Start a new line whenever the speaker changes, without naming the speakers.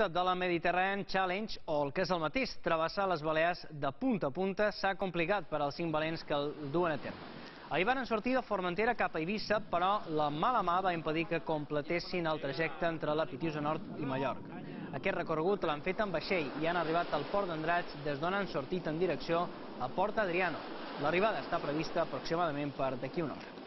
repte de la Mediterranean Challenge, o el que és el mateix, travessar les Balears de punta a punta, s'ha complicat per als 5 valents que el duen a terme. Ahir van sortir de Formentera cap a Eivissa, però la mala mà va impedir que completessin el trajecte entre la Pitiusa Nord i Mallorca. Aquest recorregut l'han fet en vaixell i han arribat al port d'Andratx, des d'on han sortit en direcció a Port Adriano. L'arribada està prevista aproximadament per d'aquí una hora.